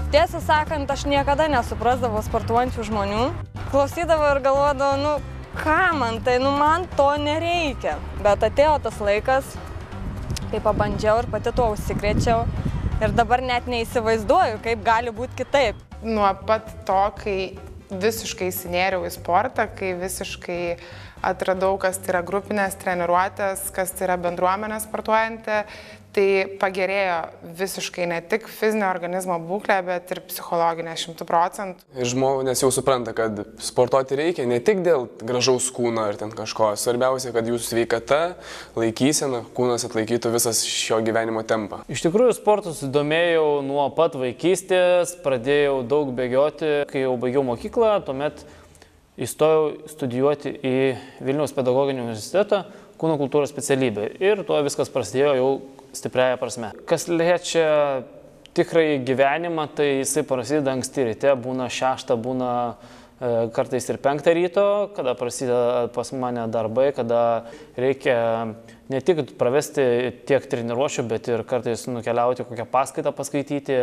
Tiesą sakant, aš niekada nesuprasdavau sportuojančių žmonių. Klausydavau ir galvodavau, nu ką man tai, nu man to nereikia. Bet atėjo tas laikas, kai pabandžiau ir pati tuo užsikrėčiau. Ir dabar net neįsivaizduoju, kaip gali būti kitaip. Nuo pat to, kai visiškai įsinėriau į sportą, kai visiškai atradau, kas tai yra grupinės treniruotės, kas tai yra bendruomenė sportuojanti, tai pagerėjo visiškai ne tik fizinio organizmo būklė, bet ir psichologinė 100%. Ir žmonės jau supranta, kad sportuoti reikia ne tik dėl gražaus kūno ar ten kažko. Svarbiausia, kad jūsų sveikata, laikysena, kūnas atlaikytų visas šio gyvenimo tempą. Iš tikrųjų, sportu susidomėjau nuo pat vaikystės, pradėjau daug bėgioti, kai jau baigiau mokyklą, tuomet įstojau studijuoti į Vilniaus pedagoginį universitetą kūno kultūros specialybę. Ir tuo viskas prasidėjo jau stipriaja prasme. Kas liečia tikrai gyvenimą, tai jisai prasideda anksti ryte, būna 6, būna kartais ir 5 ryto, kada prasideda pas mane darbai, kada reikia ne tik pravesti tiek treniruočių, bet ir kartais nukeliauti kokią paskaitą paskaityti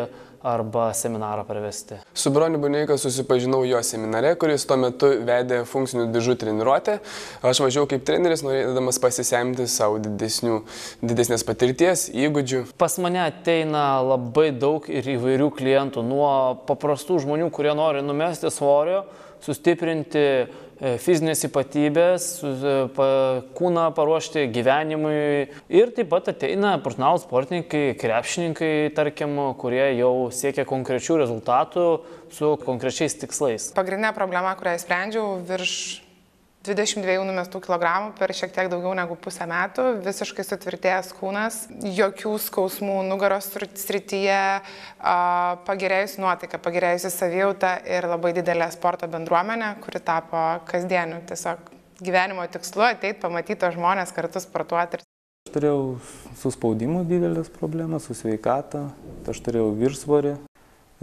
arba seminarą pravesti. Su Broniu Buneika susipažinau jo seminare, kuris tuo metu vedė funkcinių dižų treniruotę. Aš važiavau kaip treneris, norėdamas pasisemti savo didesnės patirties, įgūdžių. Pas mane ateina labai daug ir įvairių klientų, nuo paprastų žmonių, kurie nori numesti svorio, sustiprinti fizinės ypatybės, kūną paruošti gyvenimui. Ir taip pat ateina profesionalūs sportininkai, krepšininkai, tarkim, kurie jau siekia konkrečių rezultatų su konkrečiais tikslais. Pagrindinė problema, kurią sprendžiau, virš 22 numestų kilogramų per šiek tiek daugiau negu pusę metų, visiškai sutvirtėjęs kūnas, jokių skausmų nugaros srityje, pagerėjusi nuotaika, pagerėjusi savijauta ir labai didelė sporto bendruomenė, kuri tapo kasdieniu tiesiog gyvenimo tikslu ateiti, pamatyti žmonės kartu sportuoti. Aš turėjau su spaudimu didelės problemas, su sveikata, aš turėjau viršsvorį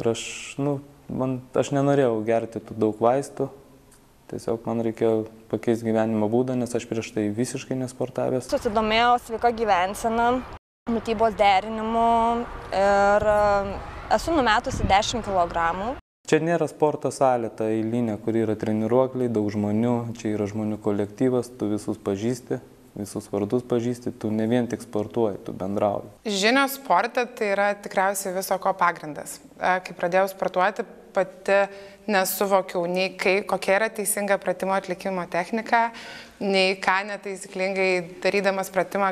ir aš nenorėjau gerti tų daug vaistų. Tiesiog man reikėjo pakeisti gyvenimo būdą, nes aš prieš tai visiškai nesportavęs. Susidomėjau sveika gyvensena, mitybos derinimu ir esu numetusi 10 kg. Čia nėra sporto salė, ta eilinė, kur yra treniruokliai, daug žmonių, čia yra žmonių kolektyvas, tu visus pažįsti, visus vardus pažįsti, tu ne vien tik sportuoji, tu bendrauji. Žinios sporte tai yra tikriausiai viso ko pagrindas. Kai pradėjau sportuoti, pati nesuvokiau nei kokia yra teisinga pratimo atlikimo technika, nei ką netaisyklingai darydamas pratimą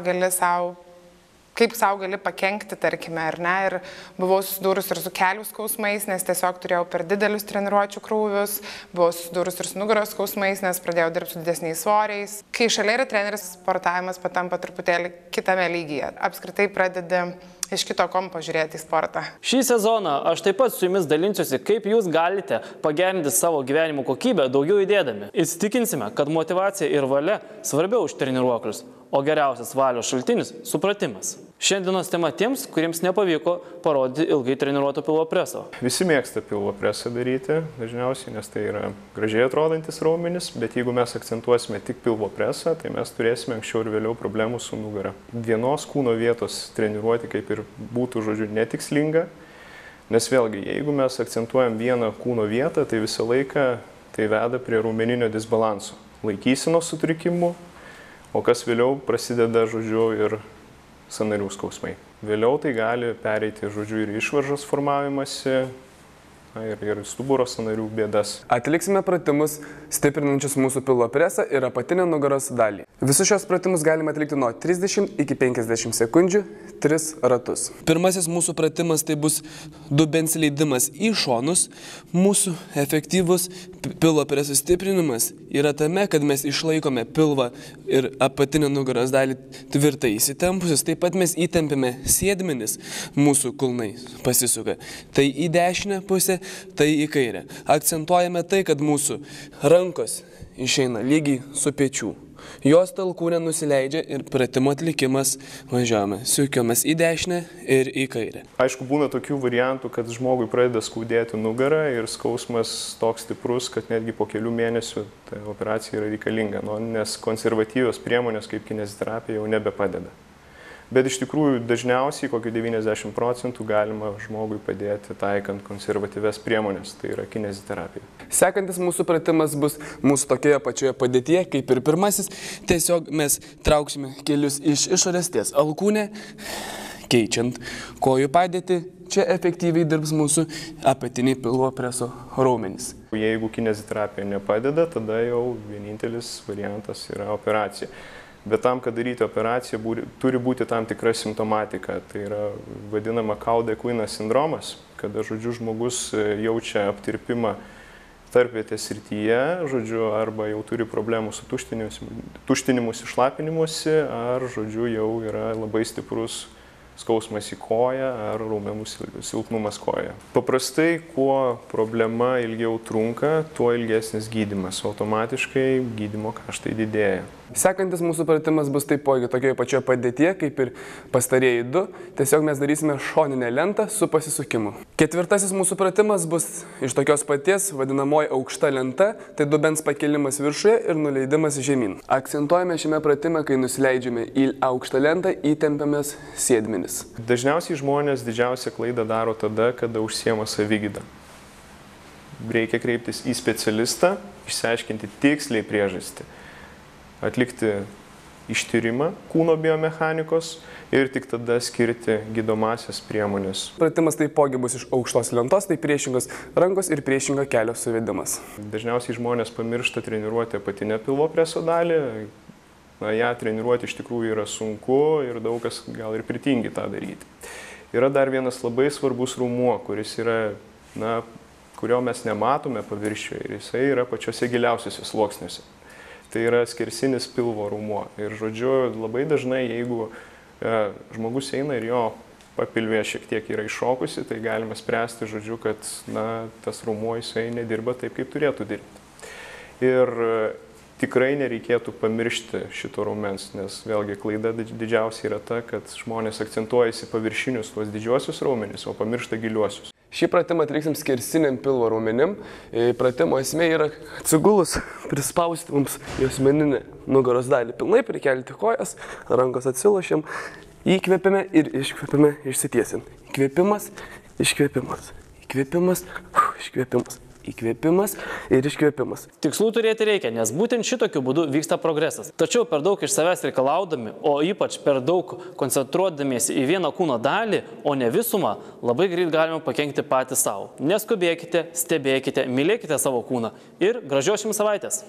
kaip sau gali pakenkti, tarkime, ar ne. Ir buvau susidūrus ir su kelių skausmais, nes tiesiog turėjau per didelius treniruočių krūvius, buvau susidūrus ir su nugaros skausmais, nes pradėjau dirbti su didesniais svoriais. Kai šalia yra treneris, sportavimas patampa truputėlį kitame lygyje. Apskritai pradedi iš kito kampo žiūrėti į sportą. Šį sezoną aš taip pat su jumis dalinsiuosi, kaip jūs galite pagerinti savo gyvenimo kokybę daugiau įdėdami. Įsitikinsime, kad motyvacija ir valia svarbiau už treniruoklius, o geriausias valios šaltinis – supratimas. Šiandienos tema tiems, kuriems nepavyko parodyti ilgai treniruoto pilvo preso. Visi mėgsta pilvo presą daryti, dažniausiai, nes tai yra gražiai atrodantis raumenis, bet jeigu mes akcentuosime tik pilvo presą, tai mes turėsime anksčiau ir vėliau problemų su nugara. Vienos kūno vietos treniruoti kaip ir būtų, žodžiu, netikslinga, nes vėlgi, jeigu mes akcentuojam vieną kūno vietą, tai visą laiką tai veda prie raumeninio disbalanso, laikysenos sutrikimų, o kas vėliau prasideda, žodžiu, ir sąnarių skausmai. Vėliau tai gali pereiti, žodžiu, ir išvaržos formavimąsi, ir stuburo sąnarių bėdas. Atliksime pratimus stiprinančius mūsų pilvo presą ir apatinę nugaros dalį. Visus šios pratimus galime atlikti nuo 30 iki 50 sekundžių, 3 ratus. Pirmasis mūsų pratimas tai bus dubens leidimas į šonus. Mūsų efektyvus pilvo preso stiprinimas yra tame, kad mes išlaikome pilvą ir apatinę nugaros dalį tvirtai įsitempusius. Taip pat mes įtempiame sėdmenis, mūsų kulnai pasisuka. Tai į dešinę pusę, tai į kairę. Akcentuojame tai, kad mūsų rankos išeina lygiai su pečių. Jos talkūnė nusileidžia ir pratimo atlikimas važiuojame. Sukiamas į dešinę ir į kairę. Aišku, būna tokių variantų, kad žmogui pradeda skaudėti nugarą ir skausmas toks stiprus, kad netgi po kelių mėnesių ta operacija yra reikalinga, nes konservatyvios priemonės kaip kineziterapija jau nebepadeda. Bet iš tikrųjų dažniausiai kokiu 90% galima žmogui padėti taikant konservatyvias priemonės, tai yra kineziterapija. Sekantis mūsų pratimas bus mūsų tokioje pačioje padėtyje, kaip ir pirmasis. Tiesiog mes trauksime kelius iš išorės ties alkūnę, keičiant kojų padėtį. Čia efektyviai dirbs mūsų apatiniai pilvo preso raumenys. Jeigu kineziterapija nepadeda, tada jau vienintelis variantas yra operacija. Bet tam, kad daryti operaciją, turi būti tam tikra simptomatika. Tai yra vadinama Cauda-Equina sindromas, kada, žodžiu, žmogus jaučia aptirpimą tarpvietės srityje, žodžiu, arba jau turi problemų su tuštinimusi, šlapinimusi, ar, žodžiu, jau yra labai stiprus skausmas į koją ar raumenų silpnumas kojoje. Paprastai, kuo problema ilgiau trunka, tuo ilgesnis gydymas. Automatiškai gydymo kaštai didėja. Sekantis mūsų pratimas bus taipogi tokioje pačioje padėtyje, kaip ir pastarieji du. Tiesiog mes darysime šoninę lentą su pasisukimu. Ketvirtasis mūsų pratimas bus iš tokios paties, vadinamoji aukšta lenta, tai dubens pakelimas viršuje ir nuleidimas žemyn. Akcentuojame šiame pratime, kai nusileidžiame į aukštą lentą, įtempiamės sėdmenis. Dažniausiai žmonės didžiausią klaidą daro tada, kada užsiema savigyda. Reikia kreiptis į specialistą, išsiaiškinti tiksliai priežastį, atlikti ištyrimą kūno biomechanikos ir tik tada skirti gydomasias priemonės. Pratimas taipogi bus iš aukštos lentos, tai priešingos rankos ir priešingo kelio suvedimas. Dažniausiai žmonės pamiršta treniruoti apatinę pilvo preso dalį. Ją treniruoti iš tikrųjų yra sunku ir daug kas gal ir pritingi tą daryti. Yra dar vienas labai svarbus raumuo, kuris yra, kurio mes nematome paviršiuje ir jisai yra pačiose giliausiuose sluoksniuose. Tai yra skersinis pilvo raumuo. Ir, žodžiu, labai dažnai, jeigu žmogus eina ir jo papilvė šiek tiek yra iššokusi, tai galima spręsti, žodžiu, kad tas raumuo jisai nedirba taip, kaip turėtų dirbti. Ir tikrai nereikėtų pamiršti šito raumens, nes vėlgi klaida didžiausia yra ta, kad žmonės akcentuojasi paviršinius tuos didžiuosius raumenis, o pamiršta giliuosius. Šį pratimą atliksim skersiniam pilvo raumenim. Pratimo esmė yra atsigulus, prispausti mums juosmeninę nugaros dalį. Pilnai prikelti kojas, rankos atsilošiam, įkvėpime ir iškvėpime išsitiesim. Įkvėpimas, iškvėpimas, įkvėpimas, iškvėpimas. Įkvėpimas ir iškvėpimas. Tikslų turėti reikia, nes būtent šitokiu būdu vyksta progresas. Tačiau per daug iš savęs reikalaudami, o ypač per daug koncentruodamiesi į vieną kūno dalį, o ne visumą, labai greit galime pakenkti patys savo. Neskubėkite, stebėkite, mylėkite savo kūną ir gražios jums savaitės.